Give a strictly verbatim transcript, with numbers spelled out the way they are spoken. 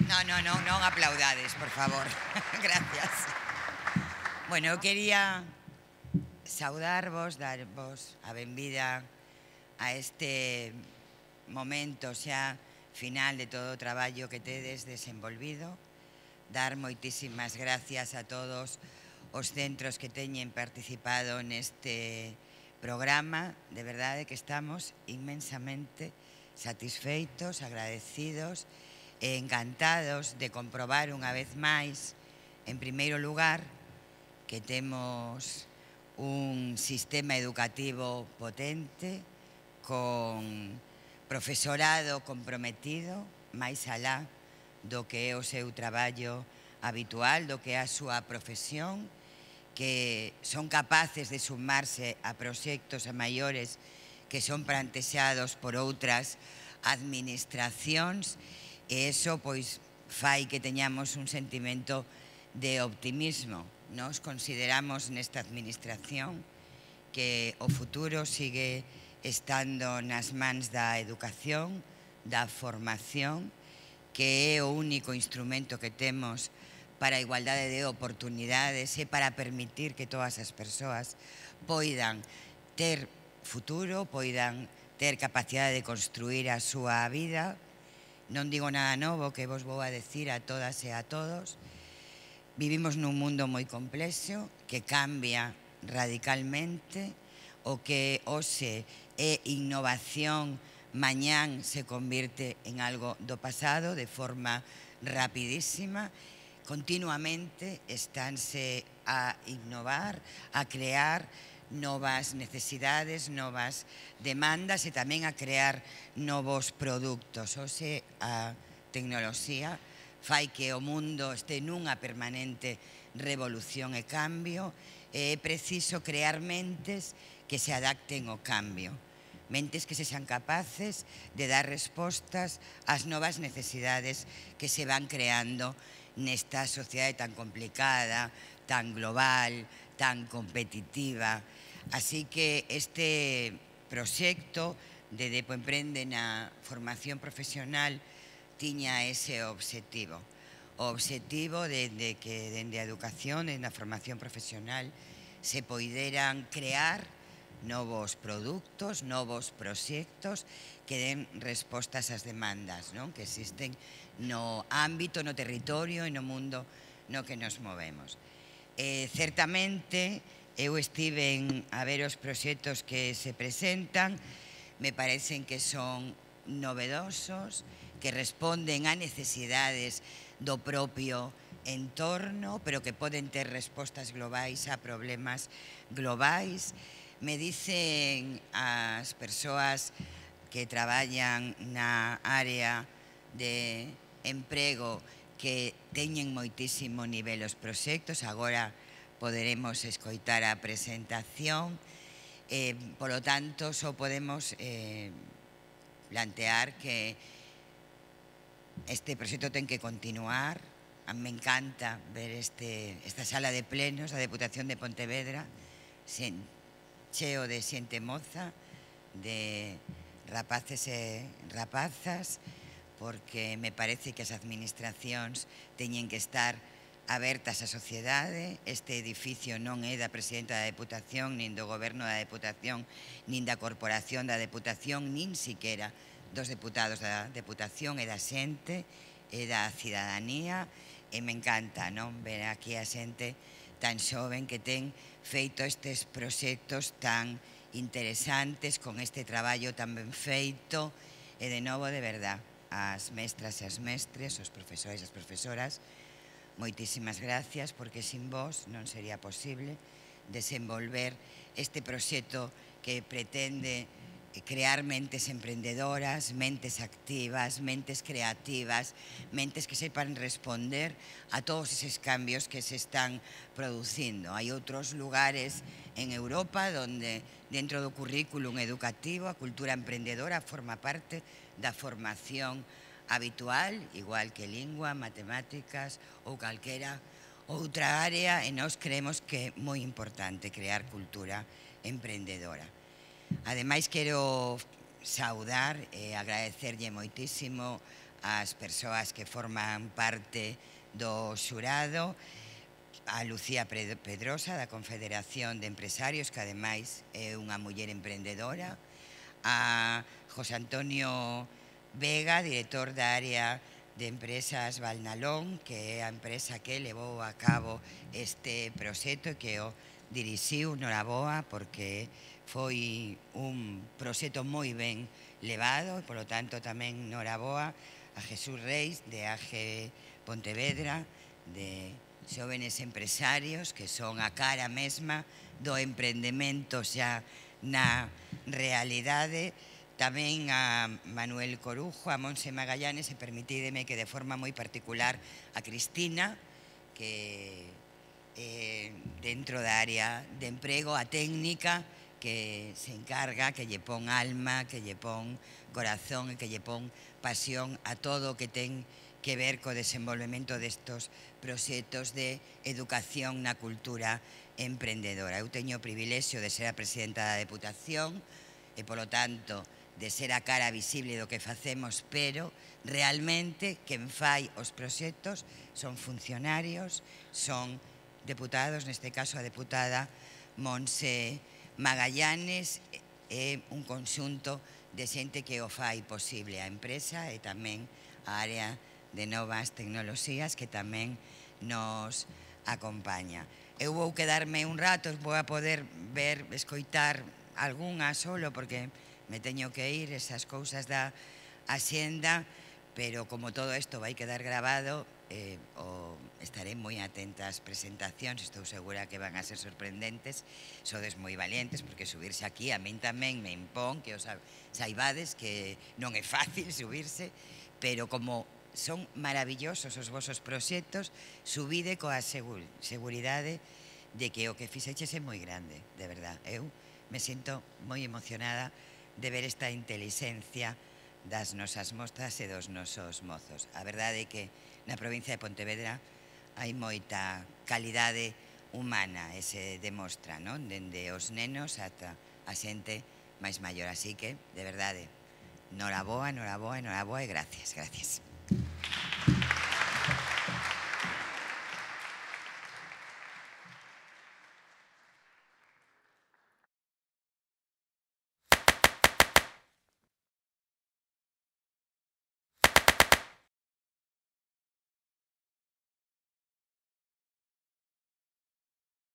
No, no, non, non aplaudades, por favor. Gracias. Bueno, eu quería saudarvos, darvos a benvida a este momento xa final de todo o traballo que tedes desenvolvido. Dar moitísimas gracias a todos os centros que teñen participado neste programa. De verdade que estamos inmensamente satisfeitos, agradecidos e encantados de comprobar unha vez máis, en primeiro lugar, que temos un sistema educativo potente, con profesorado comprometido, máis alá do que é o seu traballo habitual, do que é a súa profesión, que son capaces de sumarse a proxectos a maiores que son plantexados por outras administracións, e iso pois fai que teñamos un sentimento de optimismo. Nos consideramos nesta administración que o futuro sigue estando nas mans da educación, da formación, que é o único instrumento que temos para a igualdade de oportunidades e para permitir que todas as persoas poidan ter futuro, poidan ter capacidade de construir a súa vida. Non digo nada novo que vos vou a decir a todas e a todos. Vivimos nun mundo moi complexo que cambia radicalmente. O que hoxe é innovación, mañán se convirte en algo do pasado de forma rapidísima. Continuamente estánse a innovar, a crear novas necesidades, novas demandas e tamén a crear novos produtos. Hoxe a tecnoloxía fai que o mundo este nunha permanente revolución e cambio, e é preciso crear mentes que se adapten ao cambio, mentes que sexan capaces de dar respostas ás novas necesidades que se van creando nesta sociedade tan complicada, tan global, tan competitiva. Así que este proxecto de Depo Emprende na formación profesional tiña ese obxectivo. O obxectivo de, de que dende a educación, dende a formación profesional, se poideran crear novos produtos, novos proxectos que den respostas ás demandas, non? Que existen no ámbito, no territorio e no mundo no que nos movemos. Eh, certamente, eu estive a ver os proxectos que se presentan, me parecen que son novedosos, que responden a necesidades do propio entorno, pero que poden ter respostas globais a problemas globais. Me dicen as persoas que traballan na área de emprego que teñen moitísimo nivel os proxectos. Agora poderemos escoitar a presentación, eh, polo tanto, só podemos eh, plantear que este proxecto ten que continuar. A mí me encanta ver este, esta sala de plenos da Deputación de Pontevedra sen, cheo de xente moza, de rapaces e rapazas, porque me parece que as administracións teñen que estar abertas á sociedade. Este edificio non é da Presidenta da Deputación, nin do Goberno da Deputación, nin da Corporación da Deputación, nin siquera dos deputados da Deputación, é da xente, é da cidadanía, e me encanta, non, ver aquí a xente tan xoven que ten feito estes proxectos tan interesantes, con este traballo tan ben feito, e de novo, de verdad, as mestras e as mestres, os profesores e as profesoras, moitísimas gracias, porque sin vos non sería posible desenvolver este proxecto que pretende crear mentes emprendedoras, mentes activas, mentes creativas, mentes que sepan responder a todos eses cambios que se están producindo. Hai outros lugares en Europa donde dentro do currículum educativo a cultura emprendedora forma parte da formación habitual, igual que lingua, matemáticas ou calquera outra área, e nós creemos que é moi importante crear cultura emprendedora. Ademais, quero saudar e agradecerlle moitísimo as persoas que forman parte do xurado, a Lucía Pedrosa, da Confederación de Empresarios, que ademais é unha muller emprendedora, a José Antonio Vega, director da área de empresas Valnalón, que é a empresa que levou a cabo este proxecto e que o dirixiu. Noraboa, porque foi un proxecto moi ben levado, e polo tanto tamén noraboa a Jesús Reis, de A G Pontevedra, de xóvenes empresarios que son a cara mesma do emprendemento xa na realidade. Tamén a Manuel Corujo, a Monse Magallanes, e permitídeme que de forma moi particular a Cristina, que eh, dentro da área de emprego, a técnica que se encarga, que lle pon alma, que lle pon corazón e que lle pon pasión a todo o que ten que ver co desenvolvemento destos proxectos de educación na cultura emprendedora. Eu teño o privilexio de ser a presidenta da Deputación e, polo tanto, de ser a cara visible do que facemos, pero realmente quen fai os proxectos son funcionarios, son deputados, neste caso a deputada Monse Magallanes, é un conxunto de xente que o fai posible, a empresa e tamén a área de novas tecnoloxías que tamén nos acompaña. Eu vou quedarme un rato, vou a poder ver, escoitar algunha solo, porque me teño que ir, esas cousas da axenda, pero como todo isto vai quedar grabado, eh, o estaré moi atenta ás presentacións, estou segura que van a ser sorprendentes. Sodes moi valientes, porque subirse aquí a min tamén me impón, que os saibades que non é fácil subirse, pero como son maravillosos os vosos proxectos, subide coa seguridade de que o que fixeches é moi grande, de verdad. Eu me sinto moi emocionada de ver esta intelixencia das nosas mostras e dos nosos mozos. A verdade é que na provincia de Pontevedra hai moita calidade humana e se demostra, non? Dende os nenos ata a xente máis maior. Así que, de verdade, noraboa, noraboa, noraboa e gracias, gracias.